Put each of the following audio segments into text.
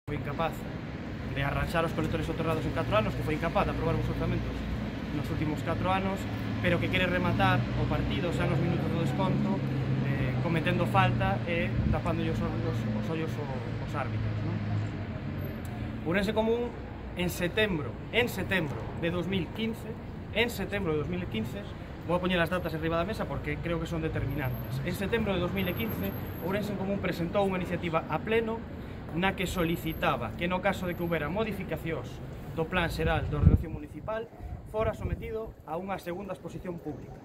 foi incapaz de arranxar os colectores soterrados en 4 anos, que foi incapaz de aprobar os orzamentos nos últimos 4 anos, pero que quere rematar o partido xa nos minutos do desconto, cometendo falta e tapándolle os ollos os árbitros, non? Ourense Común, en setembro de 2015, vou a poñer as datas enriba da mesa porque creo que son determinantes. En setembro de 2015, Ourense Común presentou unha iniciativa a pleno na que solicitaba que no caso de que houbera modificacións do Plan Xeral de Ordenación Municipal fora sometido a unha segunda exposición pública.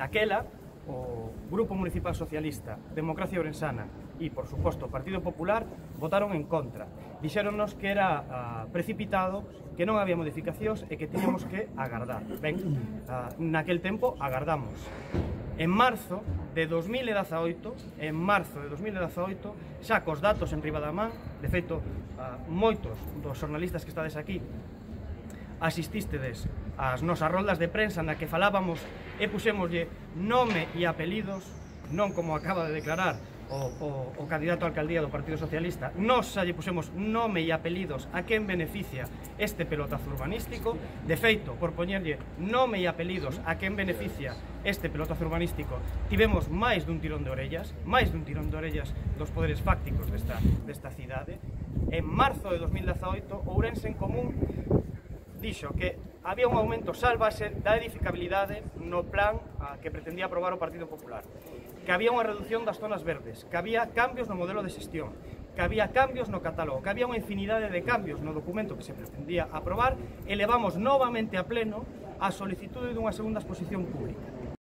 Daquela, o Grupo Municipal Socialista, Democracia Ourensana e, por suposto, o Partido Popular votaron en contra. Dixéronnos que era precipitado, que non había modificacións e que tiñamos que agardar. Ben, naquel tempo agardamos. En marzo de 2018, xa cos datos en riba da man, de feito, moitos dos xornalistas que estades aquí asististedes ás nosas roldas de prensa na que falábamos e puxémoslle nome e apelidos, non como acaba de declarar o candidato a alcaldía do Partido Socialista. Nos xa lle puxemos nome e apelidos a quen beneficia este pelotazo urbanístico. De feito, por poñerlle nome e apelidos a quen beneficia este pelotazo urbanístico, tivemos máis dun tirón de orellas dos poderes fácticos desta cidade. En marzo de 2018, Ourense Común dixo que había un aumento salvase da edificabilidade no plan que pretendía aprobar o Partido Popular, que había unha reducción das zonas verdes, que había cambios no modelo de xestión, que había cambios no catálogo, que había unha infinidade de cambios no documento que se pretendía aprobar, e levamos novamente a pleno a solicitude dunha segunda exposición pública.